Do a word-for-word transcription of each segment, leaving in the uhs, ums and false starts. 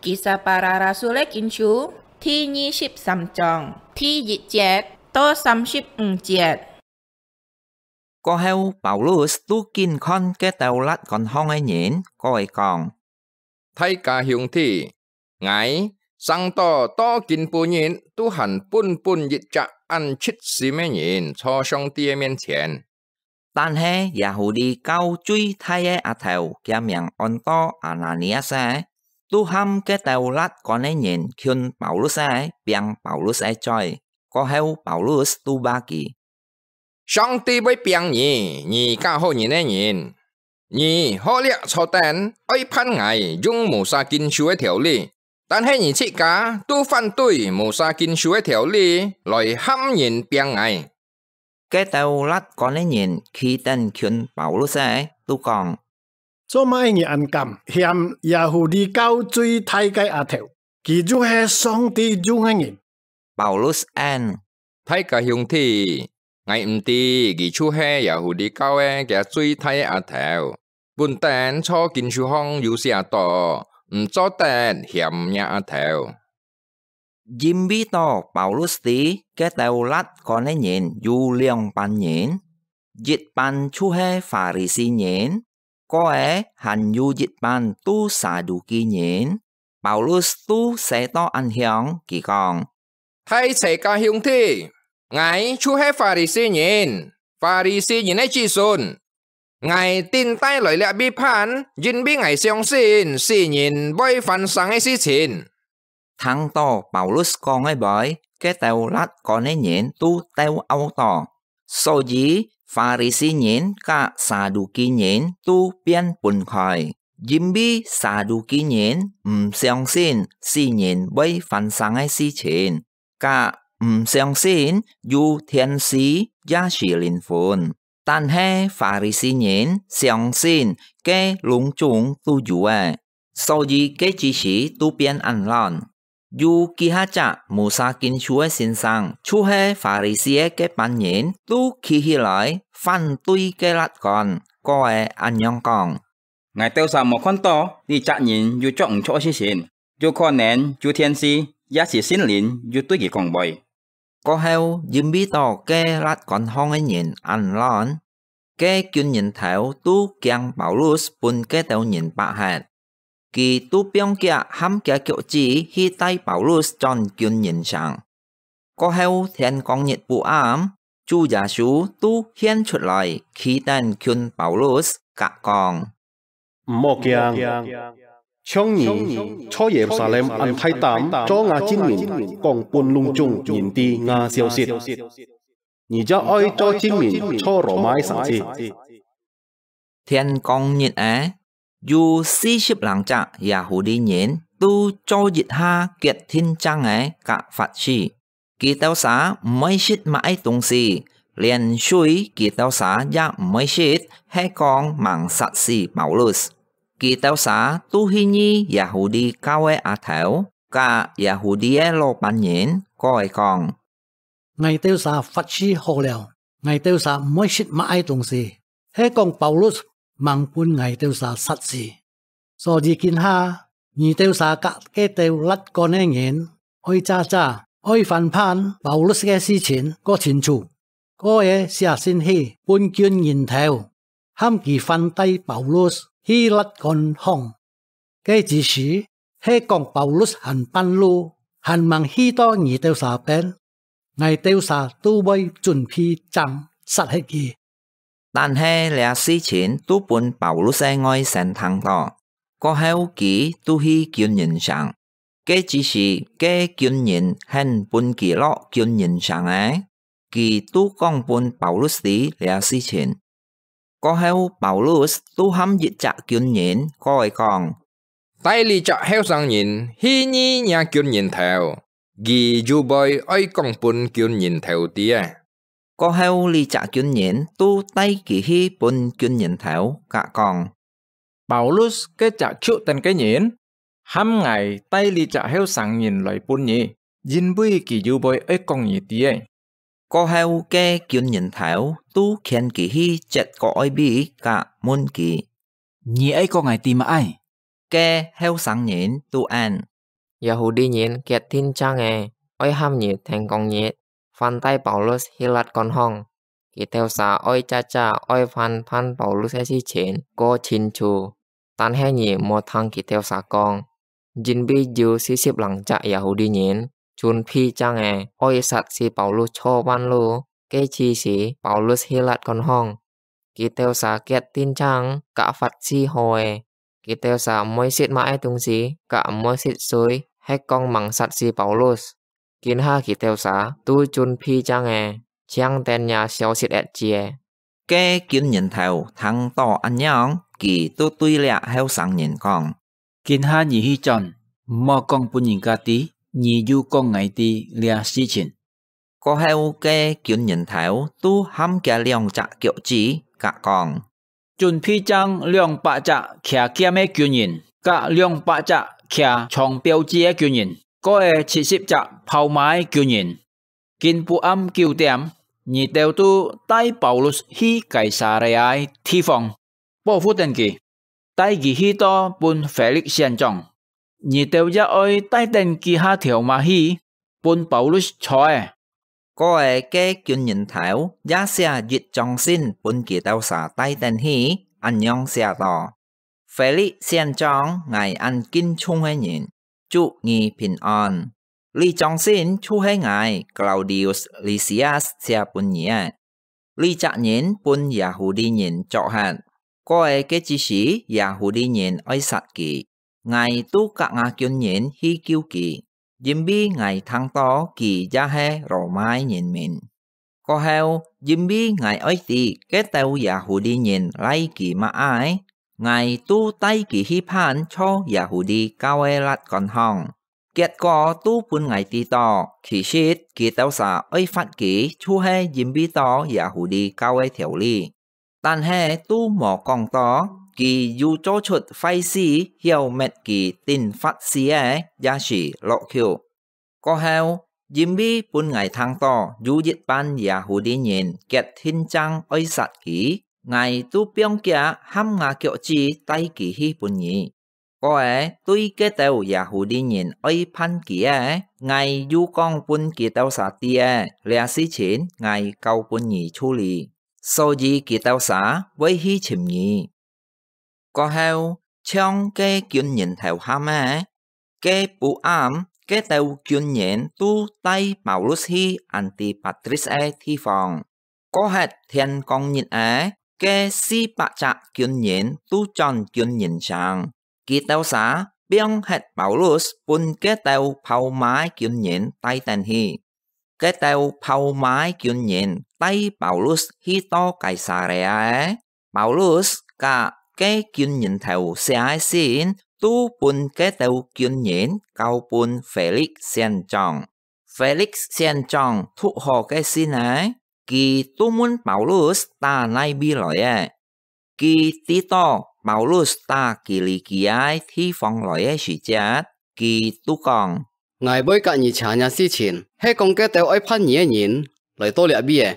Isa Para Rasul-é Kin-chhu，第二十三章，第一節到三十五節。過後，Paulus都緊看該兜latkon-hong个人，過來講：大家兄弟，𠊎生到到今晡日都還本本一隻恁直心个人坐上帝个面前。 但係Yahudi教最大个阿頭，厥名安到Ananias，都喊該兜latkon个人求Paulus，並Paulus个嘴。過後Paulus都話佢：上帝會並你，你假好人个人！你好掠坐等，愛判𠊎用Musa經書个條理， 但係你自家都反對Musa經書个條理來喊人並𠊎。該兜latkon个人企等近Paulus，都講：做麼个你恁敢嫌Yahudi教最大个阿頭？佢就係上帝用个人。Paulus應：大家兄弟，𠊎毋知佢就係Yahudi教个厥最大个阿頭。 本等在經書項有寫到，毋做得嫌若阿頭。因為到Paulus知該兜latkon个人有兩班人，一班就係Pha-ri-si人，過个還有一班都Saduki人。Paulus都寫到恁樣，佢講：大齊家兄弟，𠊎就係Pha-ri-si人，Pha-ri-si人个子孫。 𠊎躉帶來這位判，因為𠊎相信死人會翻生个事情。聽到Paulus講个話，該兜latkon个人都鬥漚到。所以Pha-ri-si人佮Saduki人都變分開，因為Saduki人毋相信死人會翻生个事情， 佮毋相信有天使也係靈魂。但係Pha-ri-si人相信該攏總都有个，所以該支時都變恁亂。有幾下隻Musa經書个先生，就係Pha-ri-si个該班人，都企起來反對該latkon，過个恁樣講： 𠊎兜儕無看到這隻人有做毋著个事情，有可能有天使也係聖靈有對佢講話。過後，因為到該latkon項个人恁亂，該軍人頭都驚Paulus分該兜人捌忒，佢都放厥含厥腳趾去帶Paulus轉軍人城。 過後天光日晡暗，主耶穌都現出來，企等近Paulus，佮講：毋好驚，像你在耶路撒冷恁大膽做吾證明，講分攏總人知吾消息，你也愛做證明在羅馬个城市。 天光日仔，有四十零隻Yahudi人都做一下決定正仔佮發誓，佢兜儕毋會食麼个東西，連水佢兜儕也毋會食，係講吂殺死Paulus。佢兜儕都去議Yahudi教个阿頭，佮Yahudi个老闆人，過來講： 𠊎兜儕發誓好了，𠊎兜儕毋會食麼个東西，係講Paulus吂分𠊎兜儕殺死。所以今下，你兜儕佮該兜latkon个人，愛詐詐，愛翻判Paulus个事情較清楚，過个寫信去分軍人頭， 喊佢反帶Paulus去latkon項。該支時，係講Paulus還半路，還吂去到你兜儕片，𠊎兜儕都會準備箭殺忒佢。但係這事情都分Paulus个外甥聽到，過後佢都去軍人城。 該支時，該軍人肯分佢落軍人城仔，佢都講分Paulus知這事情。過後，Paulus都喊一隻軍人過來講：帶這隻後生人去議若軍人頭，佢有話愛講分軍人頭知仔。過後，這隻軍人都帶佢去分軍人頭，佮講： Paulus該隻求等个人，喊𠊎帶這隻後生人來分你，因為佢有話愛講你知仔。過後，該軍人頭都牽佢去設个外位，佮問佢：你愛講𠊎知麼个？該後生人都應： Yâ-hû-ti-ngìn kiet-thin chang-è, oi ham-ngit Thèn-kông-ngit, van tai Pâ-ôl-lus hi lat-kôn-hong. Kì-têu sà oi cha-cha oi van phan Pâ-ôl-lus ke sṳ-chhìn kô chhîn-chhù, Tan-he ngì mò thâng kì-têu sà kóng, yîn-vi yû si-sṳ̍p-lâng-chak Yâ-hû-ti-ngìn chún-phi chang-è oi sat-si Pâ-ôl-lus chhô van-lu, ke-chi-sî Pâ-ôl-lus hi lat-kôn-hong. Kì-têu sà kiet-thin chang kak fat-si hó-è. Kì-têu sà m̀-oi si̍t má-ke tûng-sî, kak m̀-oi si̍t sui, he̍t kông màng sat-si Pâ-ôl-lus. Kîn-ha kì-têu sà tû chún-phi chang-è, chiang ten yà siâu-sit-et chie. Ke kiûn-ngìn-thèu thâng-tó án-ngiòng, kì tû tui liá heu-sâng-ngìn kóng: "Kîn-ha ngì hi chón, m̀-hó kóng pûn ngìn-kâ tî, ngì yû kóng ngài tî liá sṳ-chhìn." Ko-heu, ke kiûn-ngìn-thèu tû ham kiâ lióng-chak kiok-chi, kak kóng: "Chún-phi chang lióng-pak-chak khià kiam ke kiûn-ngìn, kak lióng-pak-chak khià chhòng piêu-chi ke kiûn-ngìn, kô-é chhit-sṳ̍p-chak phâu-mâ ke kiûn-ngìn. Kîn-pû-am kiu-tiám, ngì-têu tû tai Pâ-ôl-lus hi Kâi-sâ-rê-â ke thi-fông, pó-fu-tén kì, tai kì hi-to pûn Fê-li̍k sién-chóng. Ngì-têu ya oi tai-tén kí-ha thiàu-ma hi, pûn Pâ-ôl-lus chhô-é." Ko-é, ke kiûn-ngìn-thèu ya siá yit chóng sin pûn kì-têu sà tai-tén hi, án-ngiòng siá-tó: "Fê-li̍k sién-chóng, ngài án kin-chhung ke ngìn, chu ngì phìn-on. Li chóng sin chhiu-he ngài Klaudius Lisias siá pûn ngì-é. Li-chak ngìn pûn Yâ-hû-ti-ngìn chok-he̍t. Ko-é, ke chi-sî Yâ-hû-ti-ngìn oi sat kì, ngài tû kak ngâ kiûn-ngìn hi kiu kì, yîn-vi ngài thâng-tó kì ya he Rô-mâ ke ngìn-mìn. Ko-heu, yîn-vi ngài oi tî ke-têu Yâ-hû-ti-ngìn lai kì má-ke, ngài tû tai kì hi phan chho Yâ-hû-ti kau ke lat-kôn-hong. Kiet-kó tû pûn ngài tî-tó, khì-sṳ̍t kì-têu sà oi fat kì chhiu-he yîn-vi to Yâ-hû-ti kau ke thiàu-li. Tan-he tû mò kóng-tó, kì yû cho-chhut fai-si hiéu-met kì tin fat-si-é, ya-sî lok-khiuk. Ko-heu, yîn-vi pûn ngài thâng-tó yû yit-pân Yâ-hû-ti-ngìn kiet-thin chang oi sat kì, ngài tû piong kiak ham ngâ kiok-chi tai kì hi pûn ngì. Ko-é, tui ke-têu Yâ-hû-ti-ngìn oi phan kì-é, ngài yû kóng pûn kì-têu sà tî-é, liá sṳ-chhìn ngài kâu pûn ngì chhû-lî, só-yî kì-têu sà voi hi chhìm ngì." Ko-heu, chhiong ke kiûn-ngìn-thèu ham-é, ke pû-am ke-têu kiûn-ngìn tû tai Pâ-ôl-lus hi Ân-ti-pât-tris ke thi-fông. Ko-he̍t thièn-kông-ngit-è, ke si-pak-chak kiûn-ngìn tû chón kiûn-ngìn-sàng. Kì-têu sà piong-he̍t Pâ-ôl-lus pûn ke-têu phâu-mâ ke kiûn-ngìn tai-tén hi. Ke-têu phâu-mâ ke kiûn-ngìn tai Pâ-ôl-lus hi-to Kâi-sâ-rê-â-é. Pâ-ôl-lus kak ke kiûn-ngìn-thèu siá ke sin tû pûn ke-têu kiûn-ngìn kâu pûn Fê-li̍k sién-chóng. Fê-li̍k sién-chóng thu̍k hó ke sin-è, kì tû mun Pâ-ôl-lus tá nai-vi lòi-é. Kì tî-tó Pâ-ôl-lus tá Kî-lî-kî-â thi-fông lòi ke sṳ̀-chiet, kì tû kóng: "Ngài voi kak ngì chhà ngiá sṳ-chhìn, he kóng ke-têu oi phan ngì ke ngìn lòi-to liá-vi-è."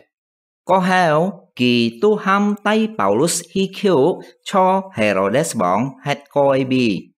Ko-heu, kì tû ham tai Pâ-ôl-lus hi khiuk chho Hê-rô-des-vòng he̍t ko ke vi,